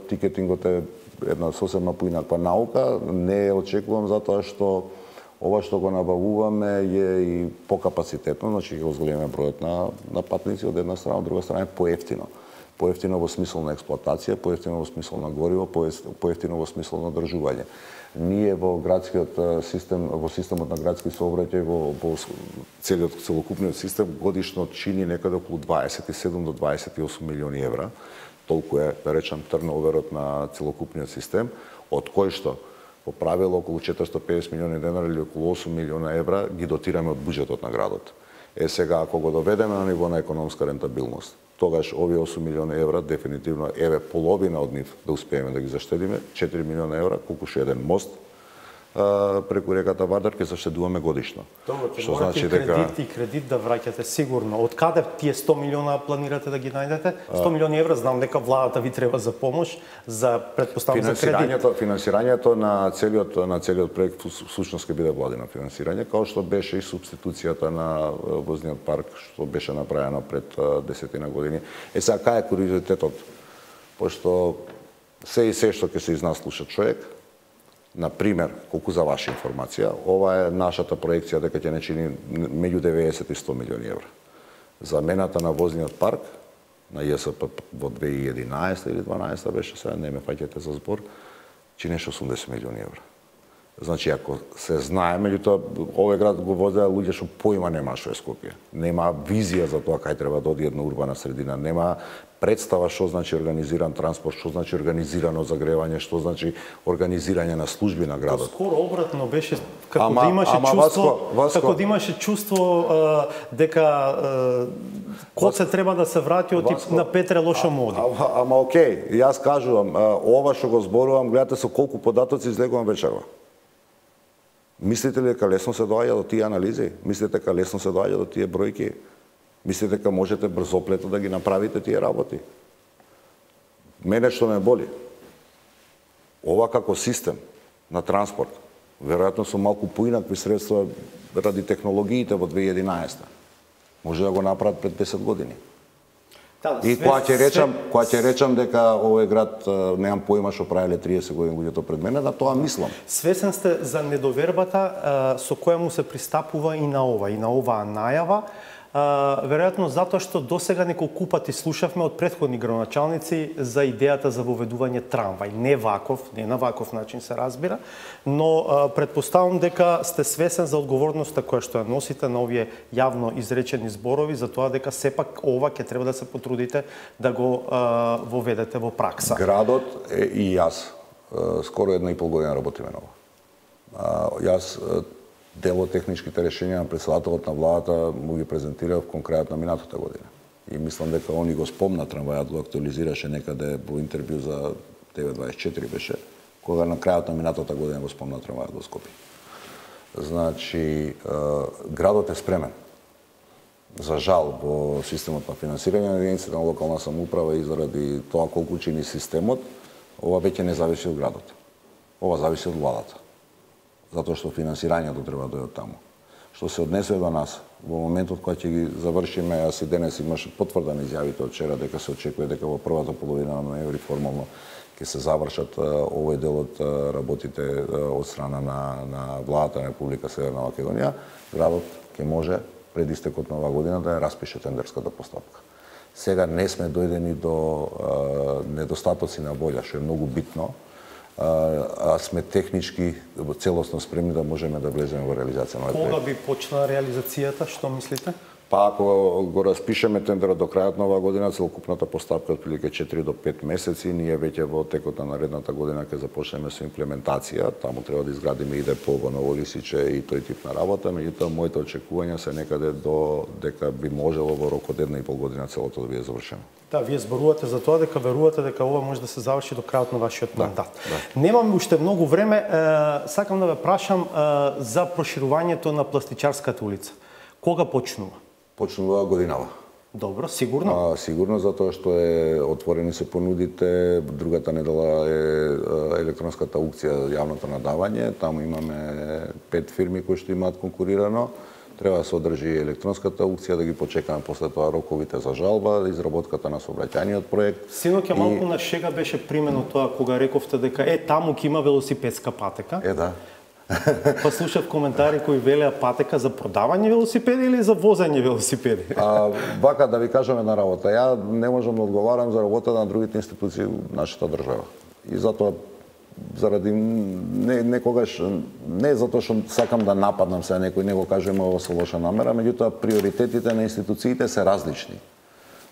Тикетингот е една сосема поинаква наука. Не очекувам затоа што ова што го набавуваме е и покапацитетно, значи ќе го зголемиме бројот на патници од една страна, од друга страна е поевтино. Поевтино во смисол на експлоатација, поевтино во смисол на гориво, поевтино во смисол на одржување. Ние во градскиот систем, во системот на градски сообраќај, во целокупниот систем годишно чини некаде околу 27 до 28 милиони евра. Толку е, да речам, трноверот на целокупниот систем, од кој што по правило околу 450 милиони денари или околу 8 милиона евра ги дотираме од буџетот на градот. Сега, ако го доведеме на ниво на економска рентабилност, тогаш овие 8 милиони евра дефинитивно половина од нив да успееме да ги заштедиме, 4 милиона евра, колку што еден мост преку реката Вардар ќе заштедуваме годишно. Добро, ќе морате кредит да враќате сигурно. Од каде тие 100 милиона планирате да ги најдете? 100 милиони евра, знам дека владата ви треба за помош, за предпоставам за кредит. Финансирањето на целиот проект всушност ќе биде владино финансирање, како што беше и субституцијата на возниот парк што беше направено пред 10 години. Сега кај е куриозитетот? Пошто се што ќе се изнаслуша човек. Например, колку за ваша информација, ова е нашата проекција дека ќе не чини меѓу 90 и 100 милиони евра. Замената на возниот парк на ЈСП во 2011 или 2012 беше, сега не ме фаќате за збор, чинеше 80 милиони евра. Значи, ако се знае, меѓутоа, овој град го возеа луѓе што поима нема што е Скопје. Нема визија за тоа кај треба да оди една урбана средина, нема представа што значи организиран транспорт, што значи организирано загревање, што значи организирање на служби на градот. Скоро обратно беше како да имаше чувство, како да имаше чувство дека Коце треба да се врати од на Петре лошо моди. Ама окей, јас кажувам, ова што го зборувам, гледате со колку податоци излегувам вечерва. Мислите ли дека лесно се доаѓа до тие анализи? Мислите дека лесно се доаѓа до тие бројки? Мислите дека можете брзоплето да ги направите тие работи? Мене што ме боли, ова како систем на транспорт, веројатно со малку поинакви средства ради технологиите во 2011. Може да го направат пред 10 години. И кога ќе речам дека овој град немам поима што правеле 30 години луѓето пред мене, да тоа мислам. Свесен сте за недовербата со која му се пристапува и на оваа најава, веројатно затоа што досега неколку пати слушавме од претходни градоначалници за идејата за воведување трамвај. Не на ваков начин се разбира, но предпоставам дека сте свесен за одговорноста која што ја носите на овие јавно изречени зборови, за тоа дека сепак ова ќе треба да се потрудите да го воведете во пракса. Градот и јас скоро 1,5 година работиме на ова. Јас дел од техничките решенија на председателот на владата му ги презентирав конкретно минатата година. И мислам дека они го спомна трамвајот, го актуализираше некаде во интервју за TV24 беше, кога на крајот на минатата година го спомна трамвајот во Скопје. Значи, градот е спремен. За жал, во системот на финансирање на единиците на локална самоуправа и заради тоа колку чини системот, ова веќе не зависи од градот. Ова зависи од владата. Затоа што финансирањето треба да дојде од таму. Што се однесе до нас, во моментот кога ќе ги завршиме, јас и денес имаше потврдени изјавите од вчера дека се очекува дека во првата половина на ноември формално ќе се завршат овој дел од работите од страна на владата на Република Северна Македонија, градот ќе може пред истекот на оваа година да ја распише тендерската постапка. Сега не сме дојдени до недостатоци на волја, што е многу битно, а сме технички целосно спремни да можеме да влеземе во реализација на овој проект. Кога би почнала реализацијата, што мислите? Па ако го распишеме тендерот до крајот на оваа година, целокупната поставка од прилike 4 до 5 месеци, ние веќе во текот на наредната година ќе започнеме со имплементација. Таму треба да изградиме и депо, ново лисиче и тој тип на работа, меѓутоа моите очекувања се некаде до дека би можело во рок од 1,5 година целото да биде завршено. Да, вие зборувате за тоа дека верувате дека ова може да се заврши до крајот на вашиот мандат. Да. Немам уште многу време, сакам да ве прашам за проширувањето на Пластичарската улица. Кога почнува? Почнува годинава. Добро, сигурно? Сигурно, затоа што отворени се понудите, другата недела е електронската аукција, јавното надавање, таму имаме 5 фирми кои што имаат конкурирано. Треба да се одржи електронската аукција, да ги почекаме после тоа роковите за жалба, изработката на сообраќајниот проект. Синоќа малку на шега беше примено тоа кога рековте дека таму ќе има велосипедска патека. Да. Па слушав коментари кои велеа патека за продавање велосипеди или за возење велосипеди? Вака да ви кажам една работа. Ја не можам да одговарам за работата на другите институции во нашата држава. И затоа заради некогаш не затоа што сакам да нападнам се некој, не го кажем ова со лоша намера, меѓутоа приоритетите на институциите се различни.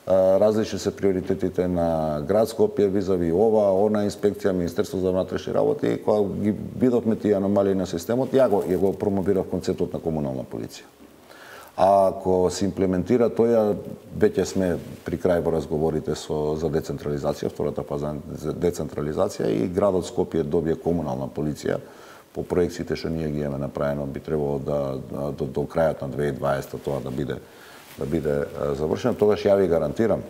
Различни се приоритетите на град Скопје визави ова, она инспекција, Министерство за внатрешни работи, кога ги видовме тие аномалии на системот, ја го промовирав концептот на комунална полиција. А ако се имплементира тој, веќе сме при крај во разговорите за децентрализација, втората фаза за децентрализација и градот Скопје добие комунална полиција. По проекциите што ние ги имаме направено, би требало до крајот на 2020 тоа да биде завршено. Тогаш ја ви гарантирам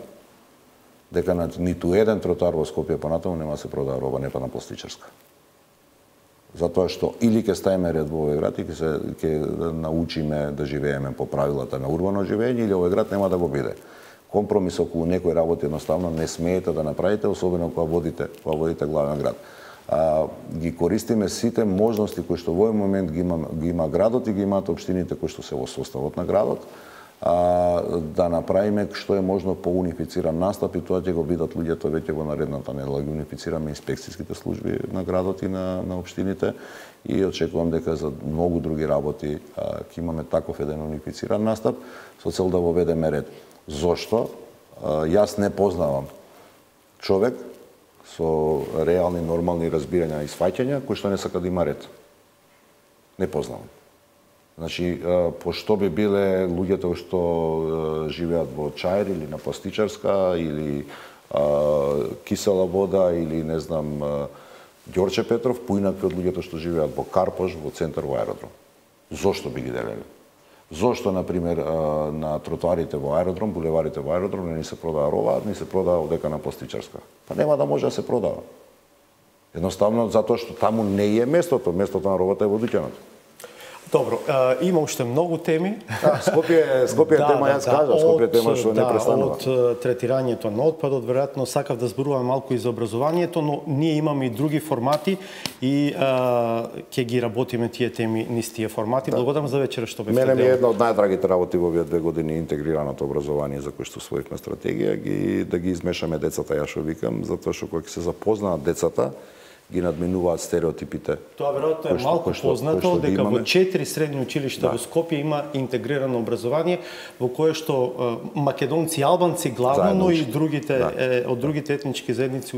дека на ниту еден тротоар во Скопје понатаму нема да се продава роба не па на Пластичарска. Затоа што или ќе ставиме ред во овој град и ќе научиме да живееме по правилата на урбано живење, или овој град нема да го биде. Компромис околу некои работи едноставно не смеете да направите, особено кога водите главен град. Ги користиме сите можности кои што во овој момент ги има градот и ги имаат општините кои што се во составот на градот, да направиме што е можно по унифициран настап, и тоа ќе го видат луѓето веќе во наредната недела. Ги унифицираме инспекцијските служби на градот и на општините и очекувам дека за многу други работи ќе имаме таков еден унифициран настап со цел да воведеме ред. Зошто? Јас не познавам човек со реални, нормални разбирања и сваќања кој што не сака да има ред. Не познавам. Значи, пошто би биле луѓето што живеат во Чаир или на Пластичарска или Кисела вода или не знам Ѓорче Петров, поинакви од луѓето што живеат во Карпош, во центар во аеродром. Зошто би ги делеле? Зошто, например, на тротоарите во аеродром, булеварите во аеродром не се продава роба, не се продава одека на Пластичарска? Па нема да може да се продава. Едноставно затоа што таму не е местото на робата е во дуќанот. Добро, има уште многу теми. Скопје тема, јас кажа, Скопје тема што не престанува. Од третирањето на отпадот, веројатно сакав да зборувам малку и за образованието, но ние имаме и други формати и ќе ги работиме тие теми низ тие формати. Благодарам за вечера што бевте дел. Мене ми е една од најдрагите работи во овие 2 години интегрираното образование за кој што освоивме стратегија, да ги измешаме децата, ја што викам, затоа што кога ќе се запознаат децата, ги надминуваат стереотипите. Тоа веројатно е малку познато дека во 4 средни училишта во Скопје има интегрирано образование во кое што македонци и албанци главно, но и другите од другите етнички заедници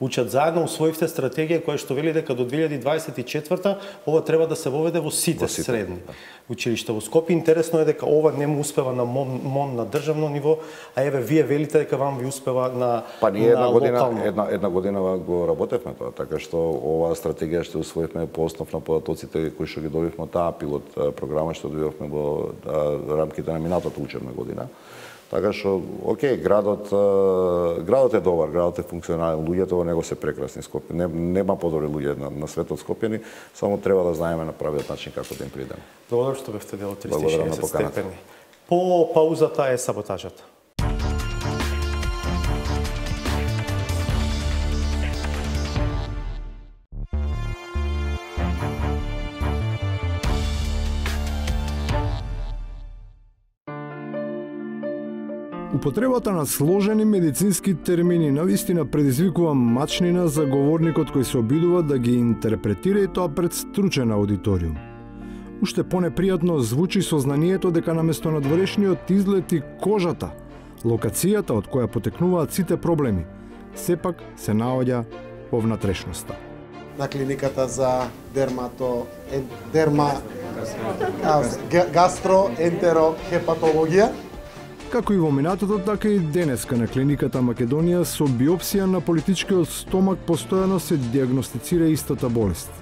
учат заедно. Усвоивте стратегија која што вели дека до 2024 ова треба да се воведе во сите средни училишта во Скопје. Интересно е дека ова не му успева на МОН на државно ниво, а еве вие велите дека вам ви успева на Па ние една година го работевме тоа, така што оваа стратегија што усвоивме по основ на податоците кои што ги добивме од таа пилот програма што добивме во рамките на минатата учебна година. Така што, окей, градот е добар, градот е функционален, луѓето во него се прекрасни. Скопје нема подобри луѓе на светот Скопјани, само треба да знаеме на правиот начин како да им придеме. Благодарам што бевте дел од 360 степени. По паузата е саботажата. Употребата на сложени медицински термини навистина предизвикува мачнина за говорникот кој се обидува да ги интерпретира и тоа пред стручен аудиториум. Уште понепријатно звучи сознанието дека наместо надворешниот излет и кожата, локацијата од која потекнуваат сите проблеми, сепак се наоѓа во внатрешноста. На клиниката за гастроентерохепатологија. Како и во минатото, така и денеска на клиниката Македонија со биопсија на политичкиот стомак постојано се диагностицира истата болест.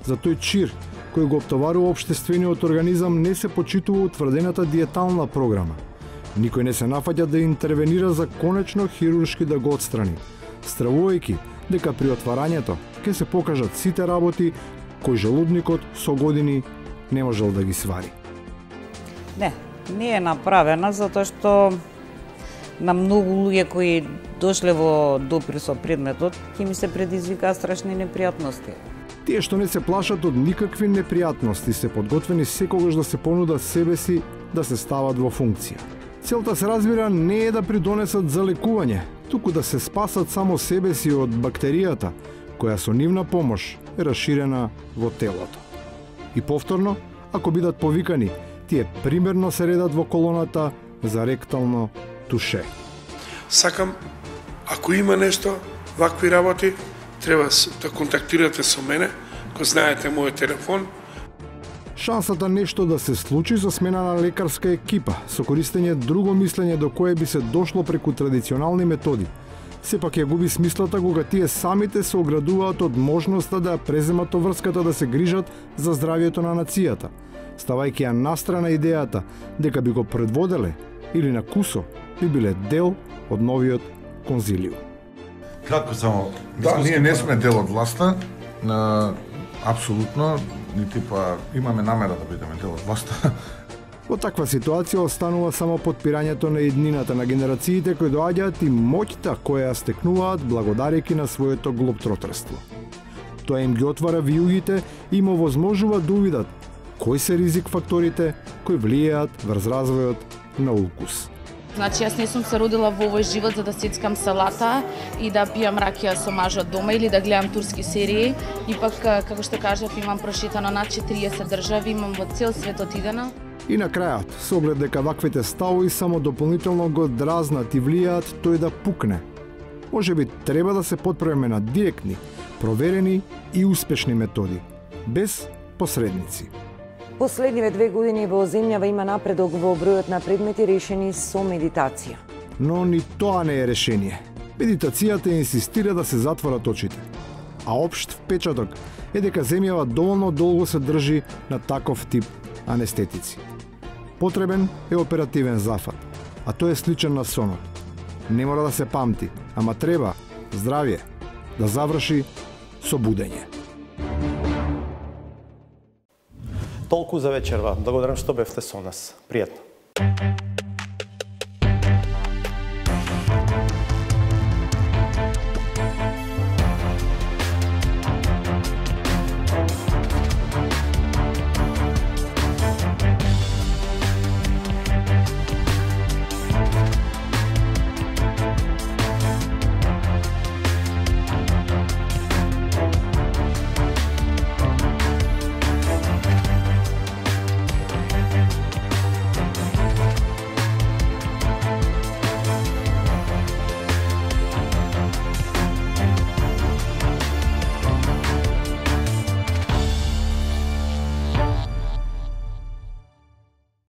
За тој чир кој го оптоварува општествениот организам не се почитува утврдената диетална програма. Никој не се нафаќа да интервенира за конечно хируршки да го отстрани, стравувајќи дека при отварањето ќе се покажат сите работи кои желудникот со години не можел да ги свари. Не е направена затоа што на многу луѓе кои дошле во допир со предметот, ќе ми се предизвикаа страшни непријатности. Тие што не се плашат од никакви непријатности се подготвени секогаш да се понудат себе си да се стават во функција. Целта се разбира не е да придонесат за лекување, туку да се спасат само себе си од бактеријата, која со нивна помош е расширена во телото. И повторно, ако бидат повикани, тие примерно се редат во колоната за ректално туше. Сакам, ако има нешто, вакви работи, треба да контактирате со мене, кој знаете мојот телефон. Шансата нешто да се случи со смена на лекарска екипа, со користење друго мислење до кое би се дошло преку традиционални методи, сепак ја губи смислата кога тие самите се оградуваат од можноста да ја преземат врската да се грижат за здравието на нацијата, ставајќи ја настрана идејата дека би го предводеле или на кусо би биле дел од новиот конзилиум. Кратко само, ние не сме дел од власта, апсолутно, нити па имаме намера да бидеме дел од власта. Во таква ситуација останува само подпирањето на еднината на генерациите кои доаѓаат и моќта која ја стекнуваат благодарејќи на своето глобтротерство. Тоа им ги отвара вијугите и им овозможува да увидат кои се ризик факторите кои влијаат врз развојот на укус. Значи, јас не сум се родила во овој живот за да сецкам салата и да пијам ракија со мажот дома или да гледам турски серии. Ипак, како што кажав, имам прошетано над 40 држави, имам во цел свет отидена. И на крајот, со оглед дека ваквите ставови само дополнително го дразнат и влијаат тој да пукне. Можеби треба да се потпреме на директни, проверени и успешни методи, без посредници. Последниве 2 години во земјава има напредок во бројот на предмети решени со медитација. Но ни тоа не е решение. Медитацијата инсистира да се затворат очите. А општ впечаток е дека земјава доволно долго се држи на таков тип анестетици. Потребен е оперативен зафат, а тој е сличен на сонот. Не мора да се памти, ама треба здравје да заврши со будење. Толку за вечерва. Благодарам што бевте со нас. Пријатно.